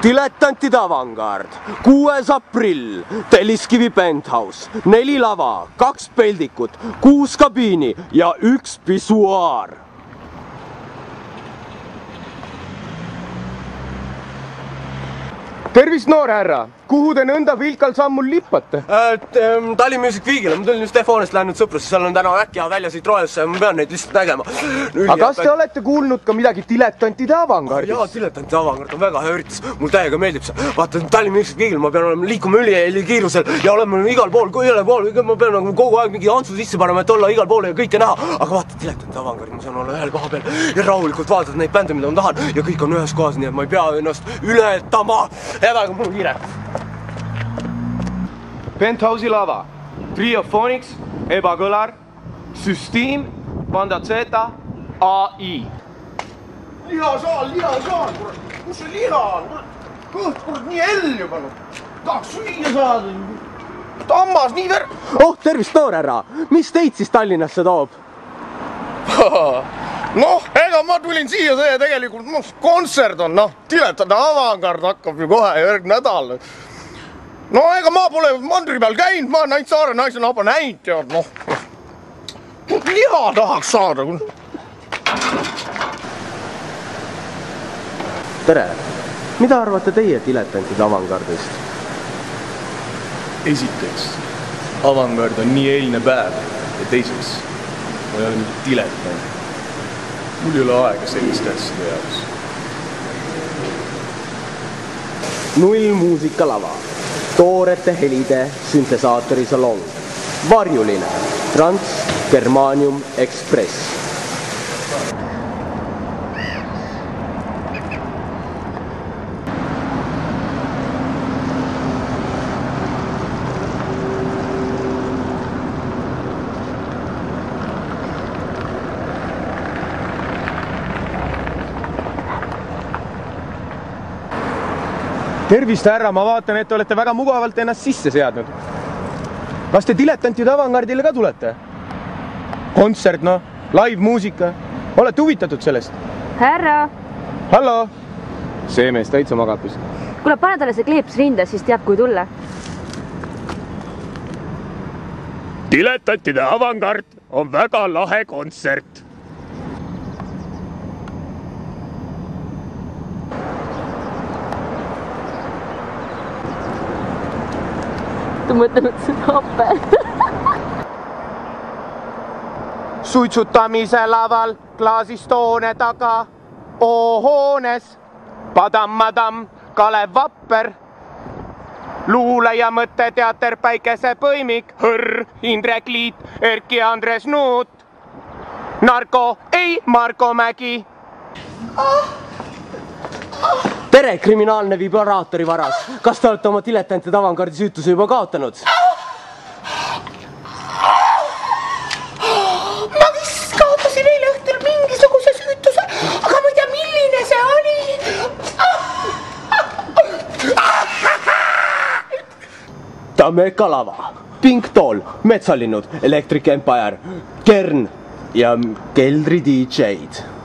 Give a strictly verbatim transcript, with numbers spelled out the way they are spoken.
Diletantide avangard, kuues aprill, Telliskivi Penthouse, neli lava, kaks peldikut, kuus kabiini ja üks pissuaar. Tervist, noor härra! Kuhu te nõnda vilkal sammul lippate? Tallinn Music Weekile, ma tulin just Stefanist läinud sõprusse, seal on täna äkki ja välja siit roelisse ja ma pean neid lihtsalt nägema. Aga kas te olete kuulnud ka midagi diletantide avangardist? Jaa, diletantide avangard on väga hea üritus, mul täiega meeldib see. Vaata, Tallinn Music Weekile ma pean olema liikuma üli kiirusel ja olema igal pool, igal pool, ma pean kogu aeg mingi antsu sisse panema, et olla igal pool ja kõike näha. Aga vaata, diletantide avangard, ma saan olla ühel koha peal ja rahulikult vaadata neid bände, mida ma tahan ja kõik on ühes kohas, nii et ma ei pea ennast ületama. Edaga mul kiire. Penthouse'i lava, Triophonics, Ebakõlar, Süsteem, Panda Zeta, A I. Lihasaal, lihasaal, kurat, kus see liha on? Kõht, kurat, nii hell juba. Tahaks süüa saada. Tammas, nii ver... Oh, tervist, noor härra! Mis teid siis Tallinnasse toob? Noh, ega ma tulin siia see tegelikult kontsert on, noh, diletantide avangard hakkab ju kohe järg nädal. No ega ma pole mandri peal käinud, ma olen ainult Saare naisena juba näinud, tead, noh. Liha tahaks saada. Tere! Mida arvate teie diletantide avangardist? Esiteks, avangard on nii eilne päev ja teiseks, ma ei ole mingi diletant. Mul ei ole aega sellist asjade jaoks. Null muusikalava. Toorete helide süntesaatori salong. Varjuline. Trans Germanium Express. Tervist, härra, ma vaatan, et te olete väga mugavalt ennast sisse seadnud. Kas te diletantide avangardile ka tulete? Kontsert, noh, live muusika. Olete huvitatud sellest? Härra! Hallo! See mees täitsa magapis. Kuule, pane talle see kleeps rinde, siis teab, kui tulla. Diletantide avangard on väga lahe kontsert. Ta mõtlenud seda hape. Suitsutamise laval, klaasistoone taga, O-hoones, Padam-madam, Kalev Vapper, luuleja mõtteteater Päikesepõimik, Hõrr, Indrek Liit, Erki Andres Nuut, Narko, ei, Marko Mägi. Tere, kriminaalne vibraatori varas. Kas te olete oma diletantide avangardi süütuse juba kaotanud? Ma vist kaotasin eile õhtul mingisuguse süütuse, aga ma ei tea, milline see oli. Tameka lava, Pink Doll, Metsalinnud, Electric Empire, Kern ja Keldri D J-d.